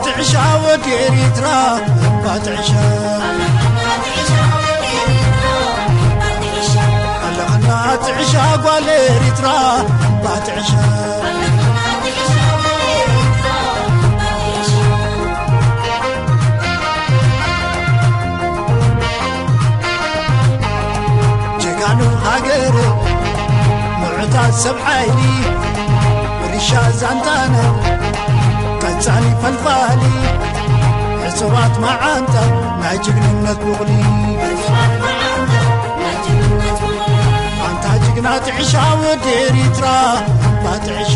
ትዕሻ ወዲ ኤሪትራ ባትዕሻ ኣለኽና ትዕሻ ጓል ኤሪትራ ባትዕሻ ጀጋኑ ሃገር ምዑታት ሰብ ሓይሊ ሪሻ ዛንታና ቀጻሊ ፈልፋሊ ሕጽባት መዓንታ ናይ ጅግንነት ቡቕሊ ኣንታ ጅግና ትዕሻ ወዲ ኤሪትራ ባትዕሻ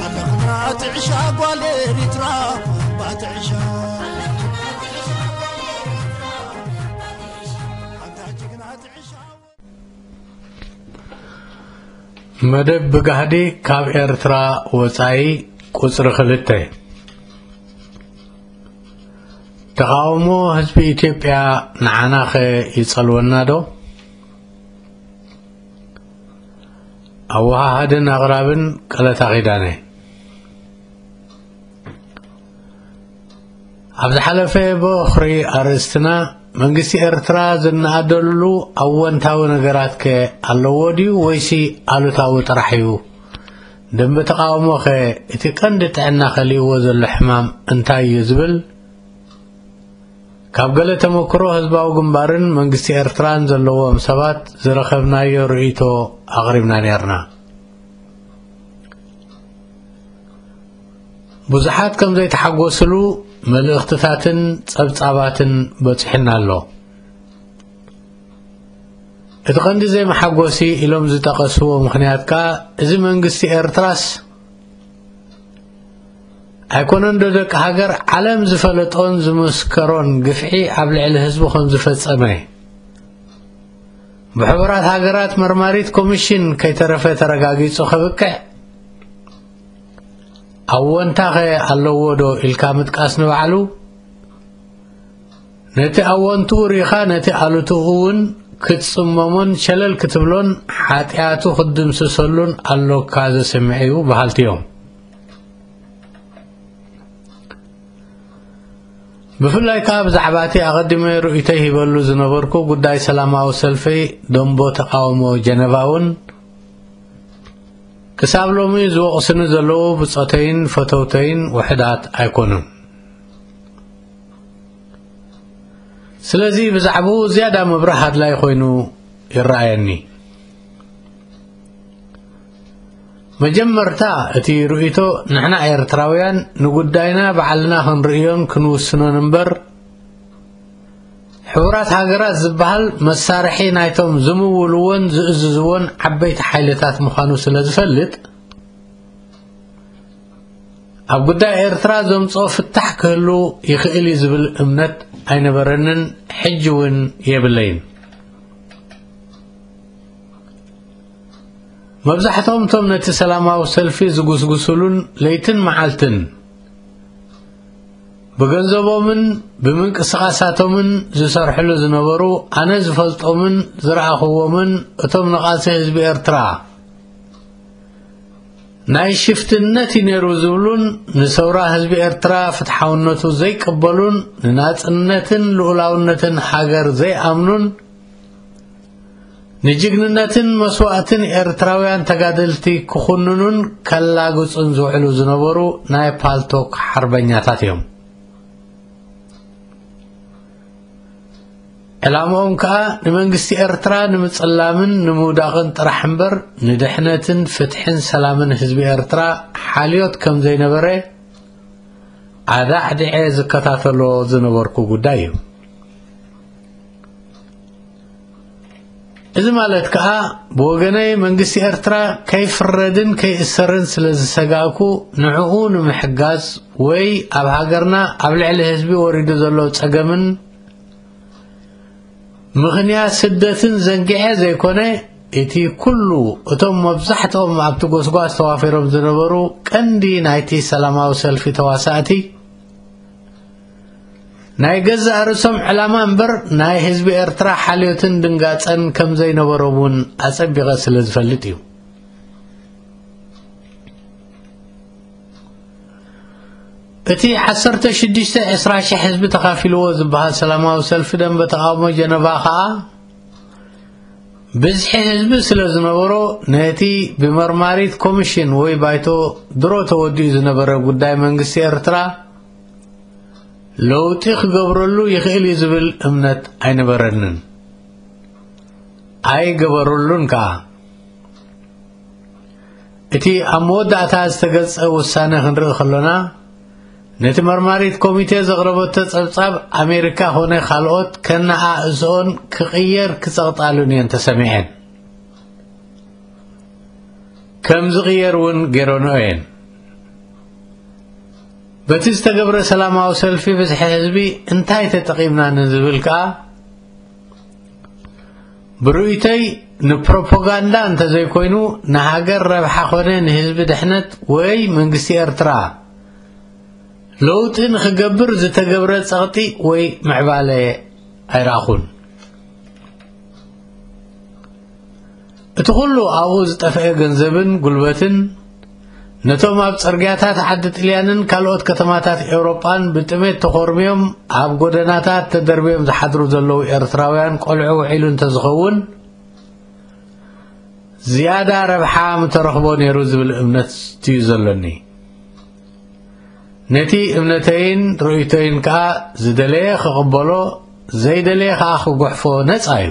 ኣለኽና ትዕሻ ጓል ኤሪትራ ባትዕሻ ኣንታ ጅግና ትዕሻ መደብ ብጋህዲ ካብ ኤርትራ ወጻኢ ቁጽሪ ክልተ። ተቓውሞ ህዝቢ ኢትዮጵያ ንዓናኸ ይጸልወና ዶ? ኣወሃሃድን ኣቕራብን ቀለታ ኪዳነ። ኣብ ዝሓለፈ በኽሪ ኣርእስትና መንግስቲ ኤርትራ ዝነኣደሉ ኣወንታዊ ነገራት ከ ኣለዎ ድዩ ወይሲ ኣሉታዊ ጥራሕ እዩ? ደንበ ተቓውሞ ከ እቲ ቀንዲ ጥዕና ከሊእዎ ዘሎ ሕማም እንታይ እዩ ዝብል ካብ ገለ ተመክሮ ህዝባዊ ግንባርን መንግስቲ ኤርትራን ዘለዎም ሰባት ዝረኸብናዮ ርእይቶ ኣቕሪብና ነርና። ብዙሓት ከም ዘይተሓጎስሉ መልእኽትታትን ጸብጻባትን በጺሑና ኣሎ። እቲ ቀንዲ ዘይመሓጎሲ ኢሎም ዝጠቐስዎ ምኽንያት ከኣ እዚ መንግስቲ ኤርትራስ ኣይኮነን ዶ ደቂ ሃገር ዓለም ዝፈለጦን ዝመስከሮን ግፍዒ ኣብ ልዕሊ ህዝቡ ከም ዝፈጸመ ብሕቡራት ሃገራት መርማሪት ኮሚሽን ከይተረፈ ተረጋጊጹ ከብቅዕ ኣወንታኸ ኣለዎ ዶ ኢልካ ምጥቃስ ንባዕሉ ነቲ ኣወንትኡ ሪኻ ነቲ ኣሉትኡ እውን ክትጽመሞን ሸለል ክትብሎን ሓጢኣቱ ክትድምስሰሉን ኣሎካ ዘስምዕ እዩ በሃልቲ እዮም። ብፍላይ ከኣ ብዛዕባ እቲ ኣቐዲመ ርእይቶይ ሂበሉ ዝነበርኩ ጉዳይ ሰላማዊ ሰልፊ ደንቦ ተቓውሞ ጀነቫ እውን ክሳብ ሎሚ ዝወቕስኒ ዘለዉ ብጾተይን ፈተውተይን ውሕዳት ኣይኮኑን። ስለዚ ብዛዕባኡ ዝያዳ ምብራህ ኣድላይ ኮይኑ ይረኣየኒ። መጀመርታ እቲ ርእይቶ ንሕና ኤርትራውያን ንጉዳይና ባዕልና ክንርእዮን ክንውስኖን እምበር ሕቡራት ሃገራት ዝበሃል መሳርሒ ናይቶም ዝምውልዎን ዝእዝዝዎን ዓበይቲ ሓይልታት ምዃኑ ስለ ዝፈልጥ ኣብ ጉዳይ ኤርትራ ዘምጽኦ ፍታሕ ክህሉ ይኽእል እዩ ዝብል እምነት ኣይነበረንን ሕጂ እውን የብለይን። መብዛሕትኦም እቶም ነቲ ሰላማዊ ሰልፊ ዝጉስጉስሉን ለይትን መዓልትን ብገንዘቦምን ብምንቅስቓሳቶምን ዝሰርሕሉ ዝነበሩ ኣነ ዝፈልጦምን ዝረኣኽዎምን እቶም ንቓልሲ ህዝቢ ኤርትራ ናይ ሽፍትነት እዩ ነይሩ ዝብሉን ንሰውራ ህዝቢ ኤርትራ ፍትሓውነቱ ዘይቅበሉን ንናጽነትን ልኡላውነትን ሃገር ዘይኣምኑን ንጅግንነትን መስዋእትን ኤርትራውያን ተጋደልቲ ክኹንኑን ከላግጹን ዝውዕሉ ዝነበሩ ናይ ፓልቶክ ሓርበኛታት እዮም። ዕላምኦም ከኣ ንመንግስቲ ኤርትራ ንምጽላምን ንምውዳቕን ጥራሕ እምበር ንድሕነትን ፍትሕን ሰላምን ህዝቢ ኤርትራ ሓልዮት ከም ዘይነበረ ኣዳዕዲዐ ዝከታተሎ ዝነበርኩ ጉዳይ እዩ። እዚ ማለት ከኣ ብወገነይ መንግስቲ ኤርትራ ከይፍረድን ከይእሰርን ስለ ዝሰጋእኩ ንዕኡ ንምሕጋዝ ወይ ኣብ ሃገርና ኣብ ልዕሊ ህዝቢ ወሪዱ ዘሎ ጸገምን ምኽንያት ስደትን ዘንጊዐ ዘይኮነ፣ እቲ ኩሉ እቶም መብዛሕትኦም ኣብቲ ጎስጓስ ተዋፊሮም ዝነበሩ ቀንዲ ናይቲ ሰላማዊ ሰልፊ ተዋሳእቲ ናይ ገዛእ ርእሶም ዕላማ እምበር ናይ ህዝቢ ኤርትራ ሓልዮትን ድንጋጸን ከም ዘይነበሮም እውን ኣጸቢቐ ስለ ዝፈልጥ እዩ። እቲ ዓሰርተ ሽዱሽተ ዕስራ ሽሕ ህዝቢ ተኻፊልዎ ዝበሃል ሰላማዊ ሰልፊ ደንበ ተቓውሞ ጀነቫ ከኣ ብዝሒ ህዝቢ ስለ ዝነበሮ ነቲ ብመርማሪት ኮሚሽን ወይ ባይቶ ድሮ ተወዲኡ ዝነበረ ጉዳይ መንግስቲ ኤርትራ ለውጢ ክገብረሉ ይኽእል እዩ ዝብል እምነት ኣይነበረንን፣ ኣይገበሩሉን ከኣ። እቲ ኣብ መወዳእታ ዝተገልጸ ውሳነ ክንርኢ ከሎና፣ ነቲ መርማሪት ኮሚቴ ዘቕረበቶ ጸብጻብ ኣሜሪካ ኾነ ካልኦት ከነኣእስኦን ክቕየር ክጸቕጣሉን እየን ተሰሚዐን። ከም ዝቕየር እውን ገይረንኦ እየን። በቲ ዝተገብረ ሰላማዊ ሰልፊ ብዝሒ ህዝቢ እንታይ ተጠቒምና ንዝብል ከኣ፣ ብርእይቶይ ንፕሮፓጋንዳ እንተዘይኮይኑ ንሃገር ረብሓ ኾነ ንህዝቢ ድሕነት ወይ መንግስቲ ኤርትራ ለውጢ ንኽገብር ዝተገብረ ጸቕጢ ወይ ምዕባለ ኣይረኣኹን። እቲ ኩሉ ኣብኡ ዝጠፍአ ገንዘብን ጉልበትን ነቶም ኣብ ጽርግያታት ዓዲ ጥልያንን ካልኦት ከተማታት ኤውሮጳን ብጥሜት ተኾርምዮም ኣብ ጎደናታት ተደርብዮም ዝሓድሩ ዘለዉ ኤርትራውያን ቆልዑ ውዒሉ እንተዝኸውን፣ ዝያዳ ረብሓ ምተረኽቦ ነይሩ ዝብል እምነት እዩ ዘሎኒ። ነቲ እምነተይን ርእይቶይን ከኣ ዝደለየ ክቕበሎ፣ ዘይደለየ ከኣ ክጉሕፎ ነጻ እዩ።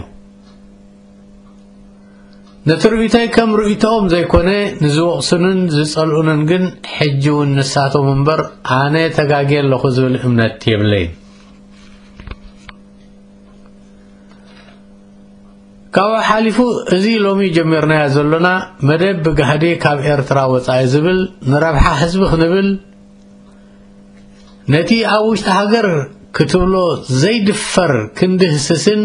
ነቲ ርእይቶይ ከም ርእይቶኦም ዘይኮነ፣ ንዝወቕሱንን ዝጸልኡንን ግን ሕጂ እውን ንሳቶም እምበር ኣነ ተጋግየ ኣለኹ ዝብል እምነት የብለይን። ካብኡ ሓሊፉ፣ እዚ ሎሚ ጀሚርናዮ ዘሎና መደብ ብጋህዲ ካብ ኤርትራ ወጻኢ ዝብል፣ ንረብሓ ህዝቢ ክንብል፣ ነቲ ኣብ ውሽጢ ሃገር ክትብሎ ዘይድፈር ክንድህስስን፣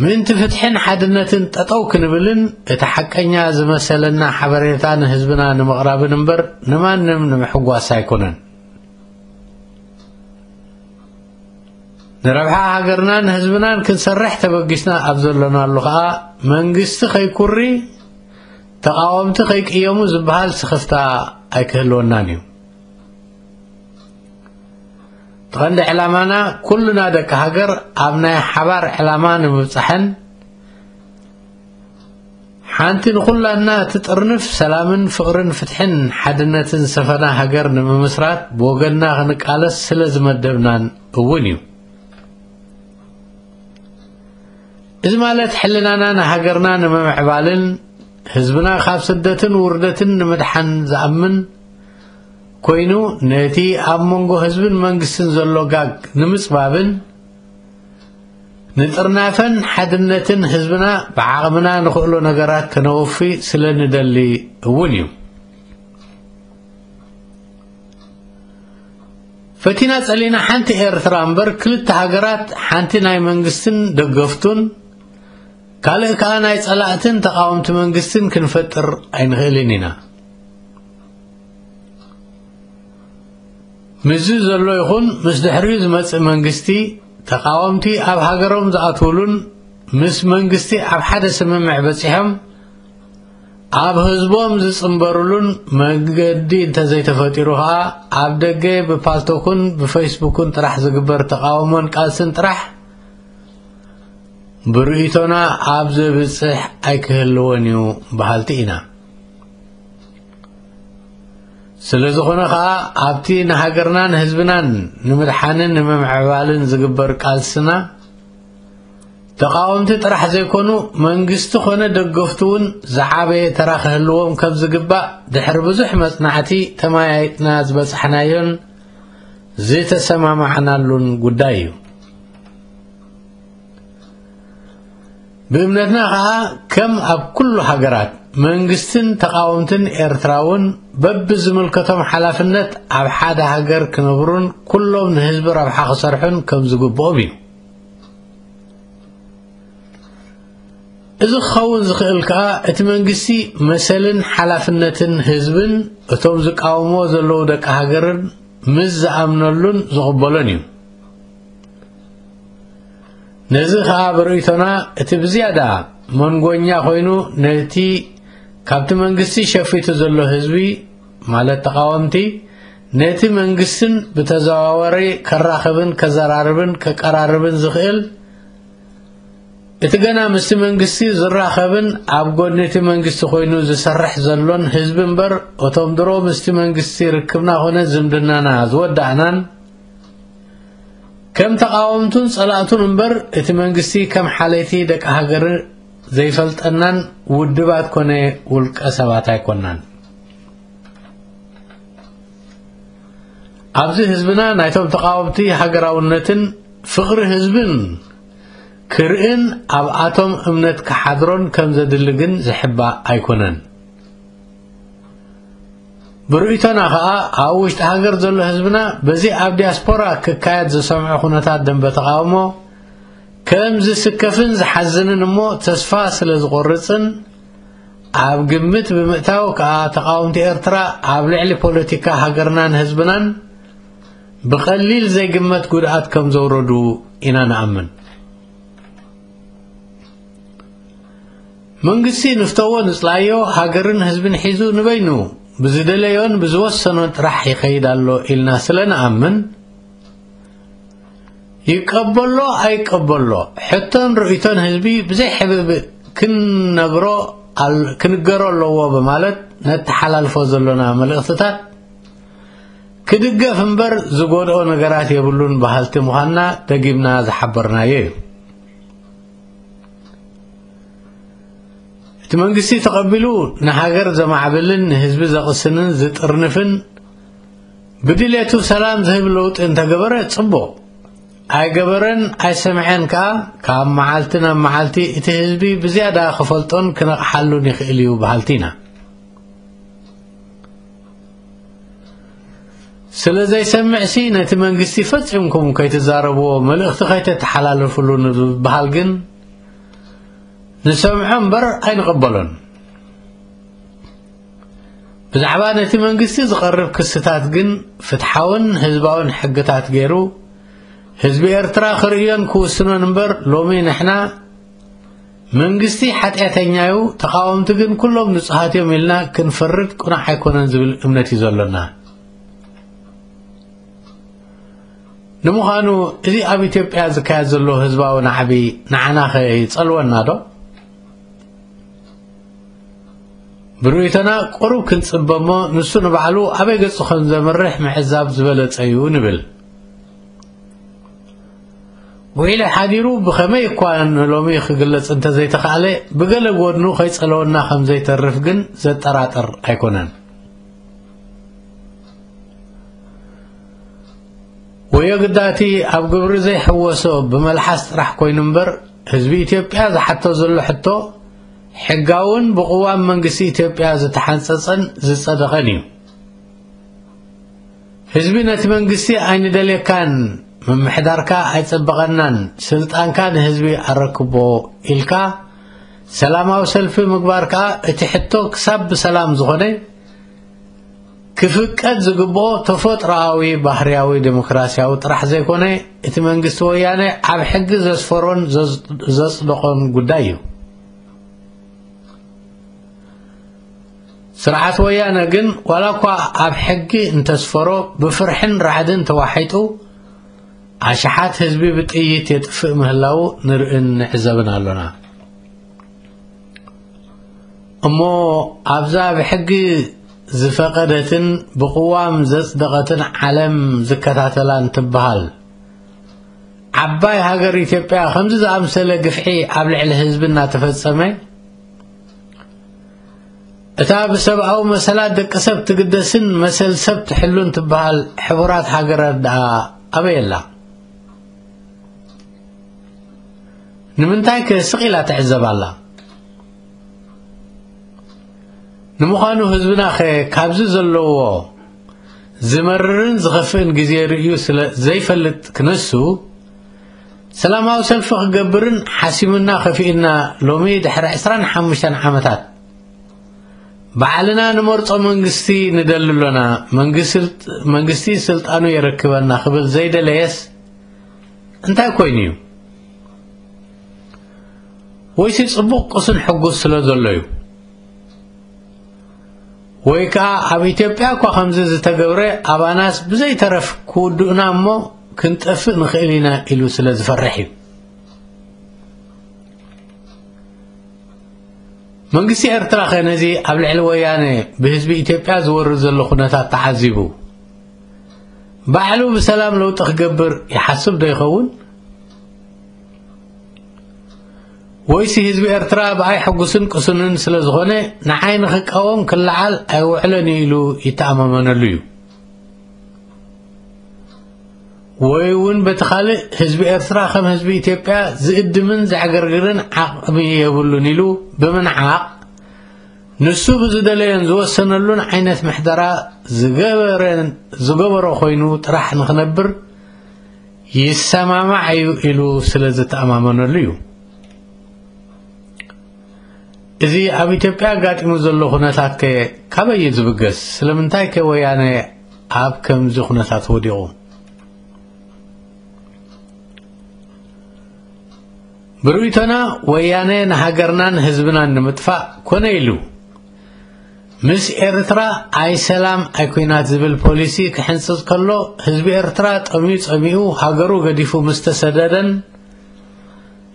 ምእንቲ ፍትሕን ሓድነትን ጠጠው ክንብልን፣ እቲ ሓቀኛ ዝመሰለና ሓበሬታ ንህዝብና ንምቕራብን እምበር ንማንም ንምሕጓስ ኣይኮነን። ንረብሓ ሃገርናን ህዝብናን ክንሰርሕ ተበጊስና ኣብ ዘሎናሉ ኸኣ፣ መንግስቲ ከይኩሪ፣ ተቓወምቲ ከይቅየሙ ዝበሃል ስኽፍታ ኣይክህልወናን እዩ። እቲ ቀንዲ ዕላማና፣ ኩልና ደቂ ሃገር ኣብ ናይ ሓባር ዕላማ ንምብጻሕን፣ ሓንቲ ንኹላትና እትጥርንፍ ሰላምን ፍቕርን ፍትሕን ሓድነትን ዝሰፈና ሃገር ንምምስራት ብወገንና ክንቃለስ ስለ ዝመደብናን እውን እዩ። እዚ ማለት ሕልናና ንሃገርና ንምምዕባልን ህዝብና ካብ ስደትን ውርደትን ንምድሓን ዝኣምን ኮይኑ፣ ነቲ ኣብ መንጎ ህዝብን መንግስትን ዘሎ ጋግ ንምጽባብን ንጥርናፈን ሓድነትን ህዝብና ብዓቕምና ንኽእሎ ነገራት ከነወፊ ስለ ንደሊ እውን እዩ። ፈቲና ጸሊና ሓንቲ ኤርትራ እምበር ክልተ ሃገራት፣ ሓንቲ ናይ መንግስትን ደገፍቱን፣ ካልእ ከኣ ናይ ጸላእትን ተቓወምቲ መንግስትን ክንፈጥር ኣይንኽእልን ኢና። ምስዚ ዘሎ ይኹን ምስ ድሕሪኡ ዝመጽእ መንግስቲ፣ ተቓወምቲ ኣብ ሃገሮም ዝኣትውሉን ምስ መንግስቲ ኣብ ሓደ ስምምዕ በጺሖም ኣብ ህዝቦም ዝጽንበሩሉን መገዲ እንተዘይተፈጢሩ ኸኣ፣ ኣብ ደገ ብፓልቶክን ብፈይስቡክን ጥራሕ ዝግበር ተቓውሞን ቃልስን ጥራሕ ብርእይቶና ኣብ ዘብጽሕ ኣይክህልዎን እዩ በሃልቲ ኢና። ስለ ዝኾነ ኸኣ፣ ኣብቲ ንሃገርናን ህዝብናን ንምድሓንን ንምምዕባልን ዝግበር ቃልስና፣ ተቓወምቲ ጥራሕ ዘይኮኑ፣ መንግስቲ ኾነ ደገፍቱ እውን ዝዓበየ ተራ ክህልዎም ከም ዝግባእ፣ ድሕሪ ብዙሕ መጽናዕቲ ተመያይጥና ዝበጻሕናዮን ዝተሰማማዕናሉን ጉዳይ እዩ። ብእምነትና ኸኣ ከም ኣብ ኩሉ ሃገራት መንግስትን ተቓወምትን ኤርትራ እውን በብዝምልከቶም ሓላፍነት ኣብ ሓደ ሃገር ክነብሩን ኩሎም ንህዝቢ ረብሓ ክሰርሑን ከም ዝግብኦም እዩ። እዚ ክኸውን ዝኽእል ከኣ እቲ መንግስቲ መሰልን ሓላፍነትን ህዝብን እቶም ዝቃወምዎ ዘለዉ ደቂ ሃገርን ምስ ዝኣምነሉን ዝቕበሎን እዩ። ነዚ ከኣ ብርእይቶና እቲ ብዝያዳ መንጎኛ ኮይኑ ነቲ ካብቲ መንግስቲ ሸፊቱ ዘሎ ህዝቢ ማለት ተቓወምቲ ነቲ መንግስትን ብተዘዋወሪ ከራኽብን ከዘራርብን ከቀራርብን ዝኽእል እቲ ገና ምስቲ መንግስቲ ዝራኸብን ኣብ ጎድኒ እቲ መንግስቲ ኮይኑ ዝሰርሕ ዘሎን ህዝቢ እምበር እቶም ድሮ ምስቲ መንግስቲ ርክብና ኮነ ዝምድናና ዝወዳእናን ከም ተቓወምቱን ጸላእቱን እምበር እቲ መንግስቲ ከም ሓለይቲ ደቂ ሃገር ዘይፈልጠናን ውድባት ኮነ ውልቀ ሰባት ኣይኮናን። ኣብዚ ህዝብና ናይቶም ተቓወምቲ ሃገራውነትን ፍቕሪ ህዝብን ክርእን ኣብኣቶም እምነት ክሓድሮን ከም ዘድሊ ግን ዝሕባእ ኣይኮነን። ብርእይቶና ኸኣ ኣብ ውሽጢ ሃገር ዘሎ ህዝብና በዚ ኣብ ዲያስፖራ ክካየድ ዝሰምዖ ኩነታት ደንበ ተቓውሞ ከም ዝስከፍን ዝሓዝንን እሞ ተስፋ ስለ ዝቖርጽን ኣብ ግምት ብምእታው ከኣ ተቓወምቲ ኤርትራ ኣብ ልዕሊ ፖለቲካ ሃገርናን ህዝብናን ብቐሊል ዘይግመት ጉድኣት ከም ዘውረዱ ኢና ንኣምን። መንግስቲ ንፍተዎ ንጽላዮ ሃገርን ህዝብን ሒዙ ንበይኑ ብዝደለዮን ብዝወሰኖን ጥራሕ ይኸይድ ኣሎ ኢልና ስለ ንኣምን ይቀበሎ ኣይቀበሎ ሕቶን ርእይቶን ህዝቢ ብዘይ ሕብብእ ክንነግሮ ኣል- ክንገሮ ኣለዎ በማለት ነተሓላልፎ ዘሎና መልእኽትታት ክድገፍ እምበር ዝጎድኦ ነገራት የብሉን በሃልቲ ምዃንና ደጊምና ዝሓበርናዮ እዩ። እቲ መንግስቲ ተቐቢሉ ንሃገር ዘማዕብልን ንህዝቢ ዘቕስንን ዝጥርንፍን ብድሌቱ ሰላም ዝህብ ለውጢ እንተገበረ ጽቡቕ፣ ኣይገበረን ኣይሰምዐን ከኣ ካብ መዓልቲ ናብ መዓልቲ እቲ ህዝቢ ብዝያዳ ክፈልጦን ክነቕሓሉን ይኽእል እዩ በሃልቲ ኢና። ስለ ዘይሰምዕሲ ነቲ መንግስቲ ፈጺምኩም ከይትዛረብዎ መልእኽቲ ከይተተሓላልፍሉ ንዝበሃል ግን ንሰምዖ እምበር ኣይንቕበሎን። ብዛዕባ ነቲ መንግስቲ ዝቐርብ ክስታት ግን ፍትሓውን ህዝባውን ሕግታት ገይሩ ህዝቢ ኤርትራ ክርእዮን ክውስኖን እምበር ሎሚ ንሕና መንግስቲ ሓጢኣተኛ እዩ፣ ተቓወምቲ ግን ኩሎም ንጹሃት እዮም ኢልና ክንፈርድ ቅኑዕ ኣይኮነን ዝብል እምነት እዩ ዘሎና። ንምዃኑ እዚ ኣብ ኢትዮጵያ ዝካየድ ዘሎ ህዝባዊ ናዕቢ ንዓናኸ ይጸልወና ዶ? ብርእይቶና ቁሩብ ክንጽበ እሞ ንሱ ንባዕሉ ኣበይ ገጹ ከም ዘምርሕ ምዕዛብ ዝበለጸ እዩ ንብል። ውዒለ ሓዲሩ ብኸመይ እኳ ንሎሚ ክግለጽ እንተዘይተኻእለ ብገለ ጎድኑ ከይጸለወና ከም ዘይተርፍ ግን ዘጠራጥር ኣይኮነን። ወዮ ግዳቲ ኣብ ግብሪ ዘይሕወሶ ብመልሓስ ጥራሕ ኮይኑ እምበር ህዝቢ ኢትዮጵያ ዝሓቶ ዘሎ ሕቶ ሕጋውን ብቕዋም መንግስቲ ኢትዮጵያ ዝተሓንጸጸን ዝጸደቐን እዩ። ህዝቢ ነቲ መንግስቲ ኣይንደልየካን፣ ምምሕዳርካ ኣይጸበቐናን፣ ስልጣንካ ንህዝቢ ኣረክቦ ኢልካ ሰላማዊ ሰልፊ ምግባር ከኣ እቲ ሕቶ ክሳብ ብሰላም ዝኾነ ክፍቀድ ዝግብኦ ተፈጥሮኣዊ ባህርያዊ ዴሞክራሲያዊ ጥራሕ ዘይኮነ እቲ መንግስቲ ወያነ ኣብ ሕጊ ዘስፈሮን ዘጽ- ዘጽደቖን ጉዳይ እዩ። ስርዓት ወያነ ግን ዋላ እኳ ኣብ ሕጊ እንተስፈሮ ብፍርሕን ራዕድን ተዋሒጡ ኣሽሓት ህዝቢ ብጥይት የጥፍእ ምህላዉ ንርእን ንዕዘብን ኣሎና። እሞ ኣብዛ ብሕጊ ዝፈቐደትን ብቕዋም ዘጽደቐትን ዓለም ዝከታተላን ትበሃል ዓባይ ሃገር ኢትዮጵያ ከምዚ ዝኣምሰለ ግፍዒ ኣብ ልዕሊ ህዝቢ እናተፈጸመ እታ ብሰብኣዊ መሰላት ደቂ ሰብ ትግደስን መሰል ሰብ ትሕሉን ትበሃል ሕቡራት ሃገራት ደኣ ኣበይ ኣላ? ንምንታይ ከ ስቕ ኢላ ትዕዘብ ኣላ? ንምዃኑ ህዝብና ኸ ካብዚ ዘለዎ ዝመርርን ዝኸፍእን ግዜ ርእዩ ስለ ዘይፈልጥ ክነሱ፣ ሰላማዊ ሰልፊ ክገብርን ሓሲምና ከፊእና ሎሚ ድሕሪ ዕስራን ሓሙሽተን ዓመታት ባዕልና ንመርጾ መንግስቲ ንደሊ ኣሎና፣ መንግስቲ መንግስቲ ስልጣኑ የረክበና ክብል ዘይደለየስ እንታይ ኮይኑ እዩ? ወይሲ ጽቡቕ ቅሱን ሕጉስ ስለ ዘሎ እዩ? ወይ ከኣ ኣብ ኢትዮጵያ እኳ ከምዚ ዝተገብረ ኣባናስ ብዘይተረፍ ክውድኡና እሞ ክንጠፍእ ንኽእል ኢና ኢሉ ስለ ዝፈርሕ እዩ። መንግስቲ ኤርትራ ኸ ነዚ ኣብ ልዕሊ ወያነ ብህዝቢ ኢትዮጵያ ዝወርድ ዘሎ ኩነታት ተዓዚቡ ባዕሉ ብሰላም ለውጢ ክገብር ይሓስብ ዶ ይኸውን? ወይሲ ህዝቢ ኤርትራ ብኣይ ሕጉስን ቅሱንን ስለ ዝኾነ ንዓይ ንኽቃወም ክለዓል ኣይውዕለን እዩ ኢሉ ይተኣማመነሉ እዩ? ወይ እውን በቲ ካልእ ህዝቢ ኤርትራ ከም ህዝቢ ኢትዮጵያ ዝእድምን ዘዕገርግርን ዓቕሚ የብሉን ኢሉ ብምንዓቕ ንሱ ብዝደለዮን ዝወሰነሉን ዓይነት ምሕደራ ዝገበረን ዝገበሮ ኮይኑ ጥራሕ ንኽነብር ይሰማማዕ እዩ ኢሉ ስለ ዝተኣማመነሉ እዩ። እዚ ኣብ ኢትዮጵያ ኣጋጢሙ ዘሎ ኩነታት ከ ካበይ እዩ ዝብገስ? ስለምንታይ ከ ወያነ ኣብ ከምዚ ኩነታት ወዲቑ? ብርእይቶና ወያነ ንሃገርናን ህዝብናን ንምጥፋእ ኮነ ኢሉ ምስ ኤርትራ ኣይ ሰላም ኣይ ኩናት ዝብል ፖሊሲ ክሕንጽጽ ከሎ ህዝቢ ኤርትራ ጠምዩ ጸሚኡ ሃገሩ ገዲፉ ምስ ተሰደደን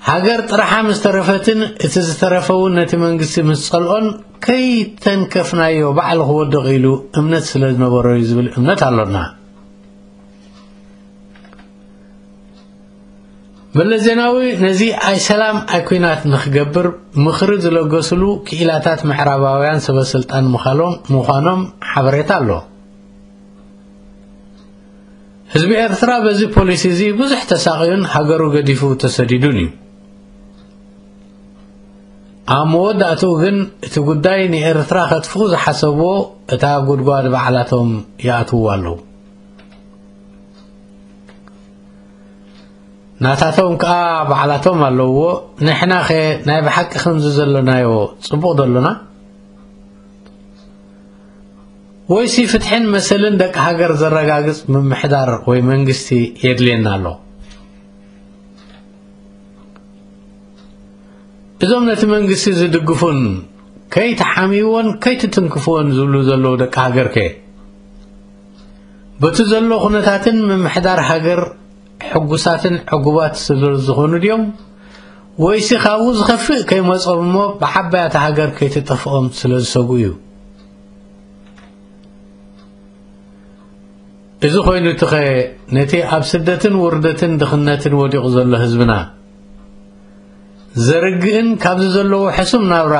ሃገር ጥርሓ ምስ ተረፈትን እቲ ዝተረፈ እውን ነቲ መንግስቲ ምስ ጸልኦን ከይተንከፍናዮ ባዕሉ ክወድቕ ኢሉ እምነት ስለ ዝነበሮ እዩ ዝብል እምነት ኣሎና። መለስ ዜናዊ ነዚ ኣይ ሰላም ኣይ ኩናት ንኽገብር ምኽሪ ዝለገስሉ ክኢላታት ምዕራባውያን ሰበ ስልጣን ምዃሎም- ምዃኖም ሓበሬታ ኣሎ። ህዝቢ ኤርትራ በዚ ፖሊሲ እዚ ብዙሕ ተሳቕዩን ሃገሩ ገዲፉ ተሰዲዱን እዩ። ኣብ መወዳእትኡ ግን እቲ ጉዳይ ንኤርትራ ከጥፍኡ ዝሓሰብዎ እታ ጉድጓድ ባዕላቶም ይኣትውዋ ኣለዉ። ናታቶም ከኣ ባዕላቶም ኣለውዎ። ንሕናኸ ናይ ብሓቂ ከምዚ ዘሎናዮ ጽቡቕ ዶ ኣሎና? ወይሲ ፍትሕን መሰልን ደቂ ሃገር ዘረጋግጽ ምምሕዳር ወይ መንግስቲ የድልየና ኣሎ? እዞም ነቲ መንግስቲ ዝድግፉን ከይትሓምይዎን ከይትትንክፍዎን ዝብሉ ዘለዉ ደቂ ሃገር ከ? በቲ ዘሎ ኩነታትን ምምሕዳር ሃገር ሕጉሳትን ዕጉባት ስለ ዝኾኑ ድዮም? ወይሲ ካብኡ ዝኸፍእ ከይመጾም እሞ ብዓባያታ ሃገር ከይትጠፍኦም ስለ ዝሰግኡ እዩ? እዚ ኮይኑ ትኸ ነቲ ኣብ ስደትን ውርደትን ድኽነትን ወዲቑ ዘሎ ህዝብና ዘርግእን ካብዚ ዘለዎ ሕሱም ናብራ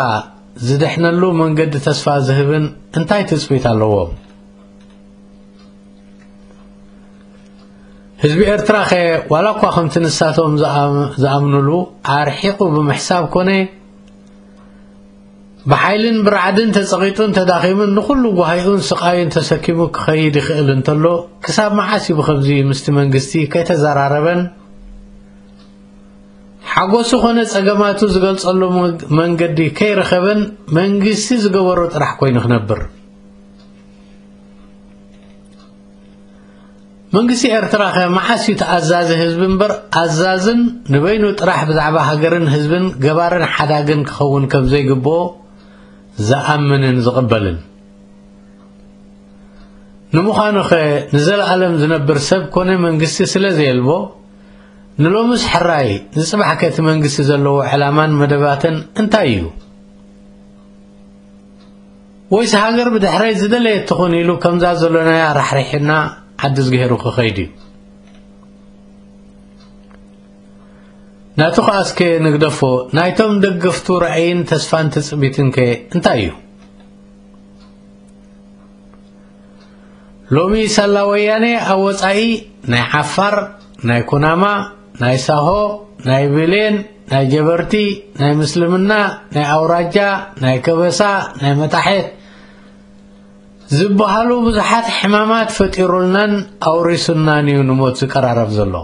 ዝድሕነሉ መንገዲ ተስፋ ዝህብን እንታይ ትጽቢት ኣለዎም? ህዝቢ ኤርትራ ኸ ዋላ እኳ ከምቲ ንሳቶም ዝኣም- ዝኣምኑሉ ኣርሒቑ ብምሕሳብ ኮነ ብሓይልን ብራዕድን ተጸቒጡን ተዳኺሙን ንኹሉ ጓሂኡን ስቓዩን ተሰኪሙ ክኸይድ ይኽእል እንተሎ ክሳብ መዓስ እዩ ብኸምዚ ምስቲ መንግስቲ ከይተዘራረበን ሓጎሱ ኾነ ጸገማቱ ዝገልጸሉ መግ- መንገዲ ከይረኸበን መንግስቲ ዝገበሮ ጥራሕ ኮይኑ ክነብር? መንግስቲ ኤርትራ ኸ መዓስ እዩ ተኣዛዚ ህዝቢ እምበር ኣዛዝን ንበይኑ ጥራሕ ብዛዕባ ሃገርን ህዝብን ገባርን ሓዳግን ክኸውን ከም ዘይግብኦ ዝኣምንን ዝቕበልን? ንምዃኑ ኸ ንዘለኣለም ዝነብር ሰብ ኮነ መንግስቲ ስለ ዘየልቦ ንሎምስ ሕራይ ንጽባሕ ከ እቲ መንግስቲ ዘለዎ ዕላማን መደባትን እንታይ እዩ? ወይስ ሃገር ብድሕረይ ዝደለየት ትኹን ኢሉ ከምዛ ዘሎናያ ራሕሪሕና ዓዲ ዝገሄሩ ክኸይድ እዩ? ናቱ ኸኣ እስከ ንግደፎ፣ ናይቶም ደገፍቱ ራእይን ተስፋን ትጽቢትን ከ እንታይ እዩ? ሎሚ ሳላ ወያኔ ኣብ ወጻኢ ናይ ዓፋር፣ ናይ ኩናማ፣ ናይ ሳሆ፣ ናይ ብሌን፣ ናይ ጀበርቲ፣ ናይ ምስልምና፣ ናይ ኣውራጃ፣ ናይ ከበሳ፣ ናይ መታሕት ዝበሃሉ ብዙሓት ሕማማት ፈጢሩልናን ኣውሪሱናን እዩ ንሞት ዝቀራረብ ዘሎ።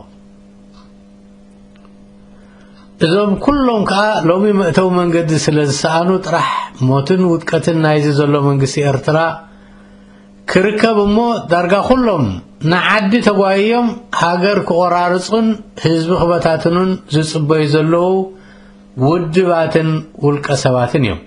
እዞም ኩሎም ከኣ ሎሚ መእተዊ መንገዲ ስለ ዝሰኣኑ ጥራሕ ሞትን ውድቀትን ናይዚ ዘሎ መንግስቲ ኤርትራ ክርከብ እሞ ዳርጋ ኩሎም ንዓዲ ተጓይዮም ሃገር ክቆራርጹን ህዝቢ ክበታትኑን ዝጽበዩ ዘለዉ ውድባትን ውልቀ ሰባትን እዮም።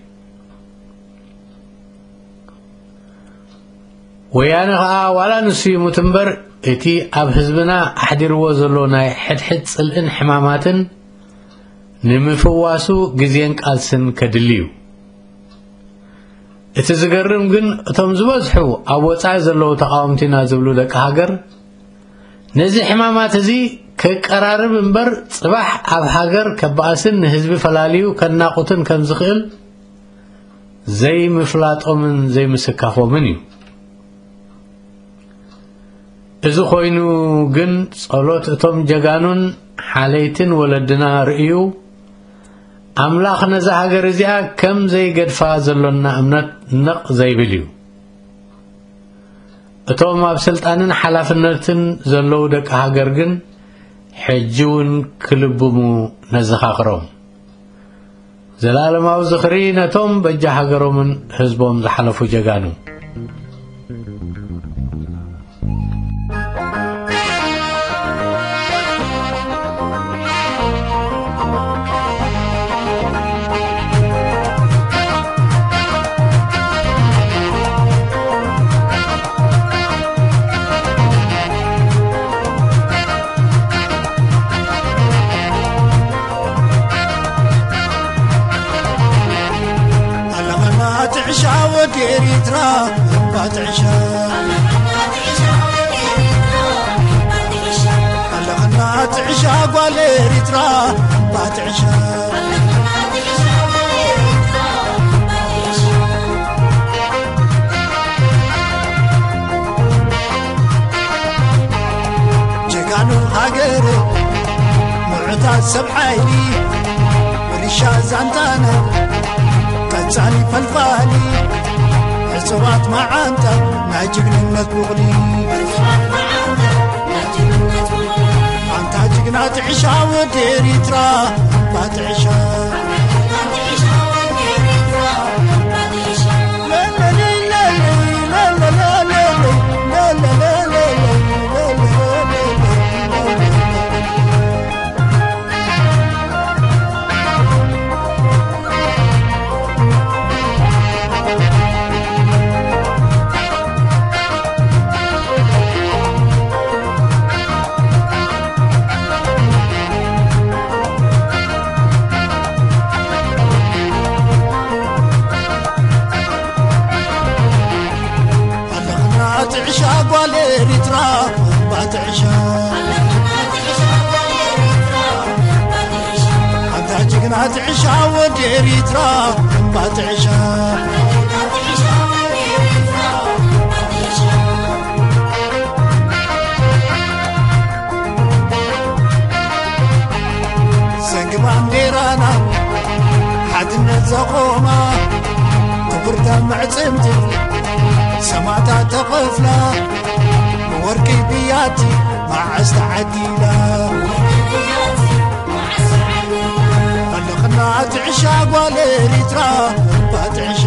ወያነ ኸኣ ዋላ ንሱ ይሙት እምበር እቲ ኣብ ህዝብና ኣሕዲርዎ ዘሎ ናይ ሕድሕድ ጽልእን ሕማማትን ንምፍዋሱ ግዜን ቃልስን ከድሊ እዩ። እቲ ዝገርም ግን እቶም ዝበዝሑ ኣብ ወጻኢ ዘለዉ ተቓወምቲና ዝብሉ ደቂ ሃገር ነዚ ሕማማት እዚ ከቀራርብ እምበር ጽባሕ ኣብ ሃገር ከባእስን ንህዝቢ ፈላልዩ ከናቑትን ከም ዝኽእል ዘይምፍላጦምን ዘይምስካፎምን እዩ። እዚ ኮይኑ ግን ጸሎት እቶም ጀጋኑን ሓለይትን ወለድና ርእዩ ኣምላኽ ነዛ ሃገር እዚኣ ከም ዘይገድፋ ዘሎና እምነት ነቕ ዘይብል እዩ። እቶም ኣብ ስልጣንን ሓላፍነትን ዘለዉ ደቂ ሃገር ግን ሕጂ እውን ክልብሙ ነዘኻኽሮም። ዘላለማዊ ዝኽሪ ነቶም በጃ ሃገሮምን ህዝቦም ዝሓለፉ ጀጋኑ። ኣለኸና ትዕሻ ወዲ ኤሪትራ እባ ትዕሻ። ኣለኸና ትዕሻ ጓል ኤሪትራ እባ ትዕሻ። ጀጋኑ ሃገር ምዑታት ሰብ ሓይሊ ምርሻ ዛንታና ቀጻሊ ፈልፋሊ ዕጽዋት መዓንጣ ናይ ጅግንነት ቡቕሊ። ኣንታ ጅግና ትዕሻ ወዲ ኤሪትራ ባትዕሻ። ኣለኽና ትዕሻ ጓል ኤሪትራ ባትዕሻ። ኣንታ ጅግና ትዕሻ ወዲ ኤሪትራ ባትዕሻ። ሰንጊ ባንዴራና ሓድነት ዘቖማ ክቡርታ መዕጽምቲ ሰማእታት ተኸፍላ ብወርቂ ብያቲ መዓስ ተዓዲላ። ኣለኽና ትዕሻ ጓል ኤሪትራ ባትዕሻ።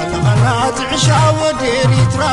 ኣለኻና ትዕሻ ወዲ ኤሪትራ